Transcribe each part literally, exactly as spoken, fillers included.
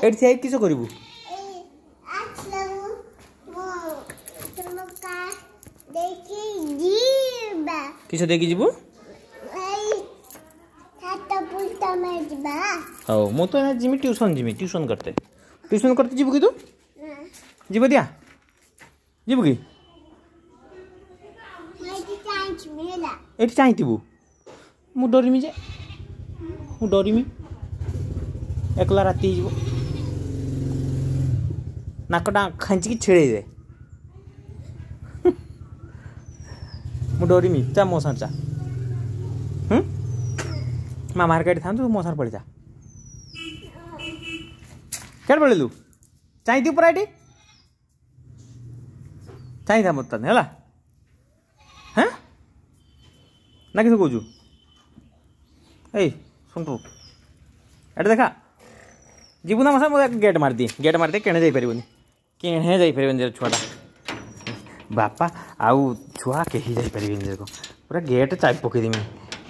ଏଠି ଠିଆ ହେଇକି କିସ କରିବୁ? କିସ ଦେଇକି ଯିବୁ? ହଉ, ମୁଁ ତ ଯିମି ଟ୍ୟୁସନ୍, ଯିମି ଟ୍ୟୁସନ୍ କରତେ। ଟ୍ୟୁସନ୍ କରତେ ଯିବୁ କି ତୁ? ଯିବ ଦିଆ, ଯିବୁ କି? ଏଠି ଚାହିଁଥିବୁ। ମୁଁ ଡରିମି ଯେ, ମୁଁ ଡରିମି, ଏକଲା ରାତି ହେଇଯିବ। ନାକଟା ଖାଞ୍ଚିକି ଛିଡ଼େଇ ଦେ। ମୁଁ ଡରିମି। ଚା ମୋ ସାଙ୍ଗରେ ଚା। ହୁଁ, ମା ମାର୍କେଟ ଥାନ୍ତୁ, ମୋ ସାଙ୍ଗରେ ପଳେଇ ଯା। କେଡ଼େ ପଳେଇଲୁ? ଚାହିଁଥିବୁ ପୁରା ଏଠି ଚାହିଁଥା ମୋତେ ହେଲା। ହଁ ନା, କିସ କହୁଛୁ? ଏଇ ଶୁଣୁ, ଏଠି ଦେଖା, ଯିବୁ ନା ମୋ ସାଙ୍ଗେ? ମୁଁ ଗେଟ୍ ମାରିଦିଏ, ଗେଟ୍ ମାରିଦିଏ, କେଣେ ଯାଇପାରିବନି, କେଣେ ଯାଇପାରିବନି ଛୁଆଟା। ବାପା ଆଉ ଛୁଆ କେହି ଯାଇପାରିବେନି। ଦେଖ, ପୁରା ଗେଟ୍ ଚାବି ପକେଇଦେମି,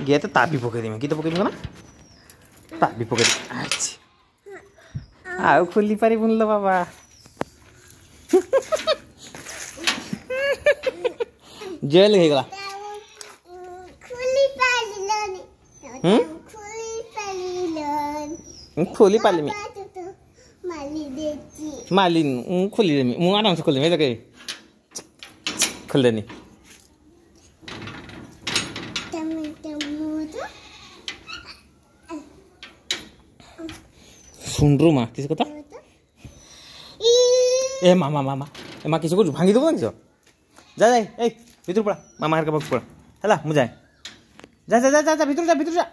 ଗେଟ୍ ତାବି ପକେଇଦେମି। କି ତ ପକେଇଦେମି ନା, ତାବି ପକେଇଦେମି। ଆଚ୍ଛା, ଆଉ ଖୋଲି ପାରିବୁନି ଲୋ ବାବା। ଜେଲ୍ ହେଇଗଲା। ମୁଁ ଖୋଲି ପାରିଲିନି, ମାଲିନି। ମୁଁ ଖୋଲିଦେମି, ମୁଁ ଆରାମସେ ଖୋଲିଦେମି। ଦେଖେ, ଖୋଲିଦେନି। ଶୁଣରୁ ମା, କିସ କଥା? ଏ ମା ମା ମା ମା, ଏ ମା, କିସ କରୁଛୁ? ଭାଙ୍ଗି ଦେବୁ ନା କିସ? ଯା ଯା, ଏଇ ଭିତରୁ ପଳା, ମାମା ହେରିକା ପାଖକୁ ପଳା। ହେଲା, ମୁଁ ଯାଏ। ଯା ଯା ଯା ଯା, ଭିତରୁ ଯା, ଭିତରୁ ଯା।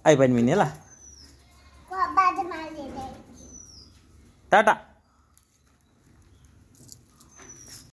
ଆଇପାରିବିନି, ହେଲା, ଟାଟା।